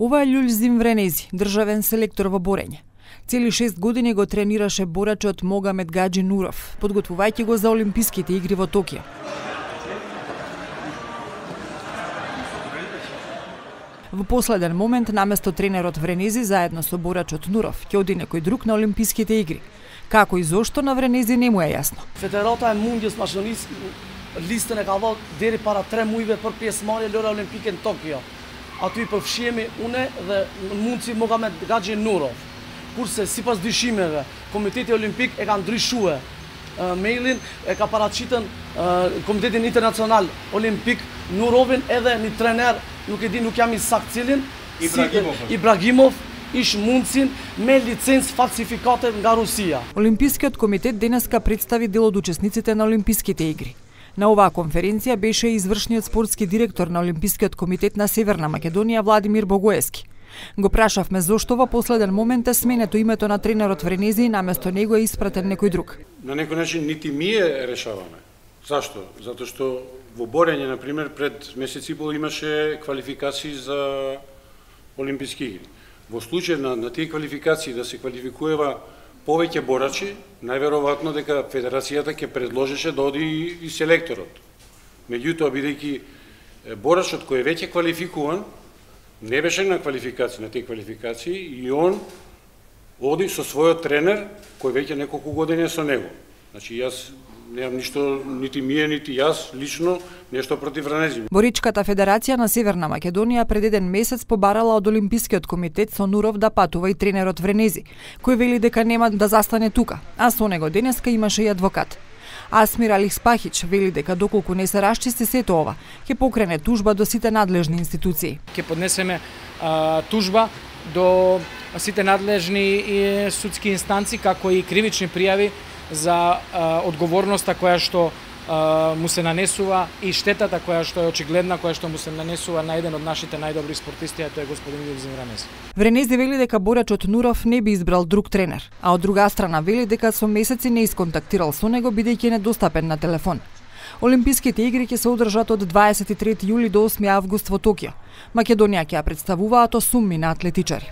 Ова е Љулзим Вренези, државен селектор во борење. Цели 6 години го тренираше борачот Могамед Гаджи Нуров, подготвувајќи го за Олимписките игри во Токио. Во последен момент, наместо тренерот Вренези заедно со борачот Нуров, ќе оди некој друг на Олимписките игри. Како и зошто на Вренези не му е јасно. Федерата е мундјас машинist листën e ka dhënë deri para 3 muajve për pjesëmarrje Lora Olimpike në Tokyo. Aty i përfshihemi unë dhe mundsi Mohamed Gadji Nurov. Kurse sipas dyshimeve, Komiteti Olimpik e ka ndryshuar mailin, e ka paraqitën Komitetin Internacional Olimpik Nurovin edhe një trener, nuk e di, nuk jam i saktë cilin, Ibrahimov, ish mundsin me licencë falsifikate nga Rusија. Олимпискиот комитет денеска представи дел од учесниците на Олимписките игри. На оваа конференција беше и извршниот спортски директор на Олимпискиот комитет на Северна Македонија Владимир Богоевски. Го прашавме зошто во последен момент е сменето името на тренерот Вренези и наместо него е испратен некој друг. На некој начин нити ние решаваме. Зашто? Затоа што во борење, например, пред месец и пол имаше квалификации за Олимписки игри. Во случај на тие квалификации да се квалификува повеќе борачи, најверојатно дека Федерацијата ќе предложеше да оди и селекторот. Меѓутоа, бидејќи борачот кој е веќе квалификуван, не беше на квалификации, на тие квалификации, и он оди со својот тренер, кој веќе неколку години е со него. Значи, јас немам ништо, нити мие, нити јас, лично, нешто против Вренези. Боричката федерација на Северна Македонија пред еден месец побарала од Олимпискиот комитет со Нуров да патува и тренерот Вренези, кој вели дека нема да застане тука, а со него денеска имаше и адвокат. Асмир Алихспахич вели дека доколку не се расчисти сето ова, ќе покрене тужба до сите надлежни институции. Ќе поднесеме тужба до сите надлежни судски инстанци, како и кривични пријави за одговорноста која што му се нанесува и штетата која што е очигледна, која што му се нанесува на еден од нашите најдобри спортисти, а тоа е господин Љулзим Вренези. Вренези вели дека борачот Нуров не би избрал друг тренер, а од друга страна вели дека со месеци не исконтактирал со него бидејќи е недостапен на телефон. Олимписките игри ќе се одржат од 23 јули до 8 август во Токио. Македонија ќе ја представуваат 8 атлетичари.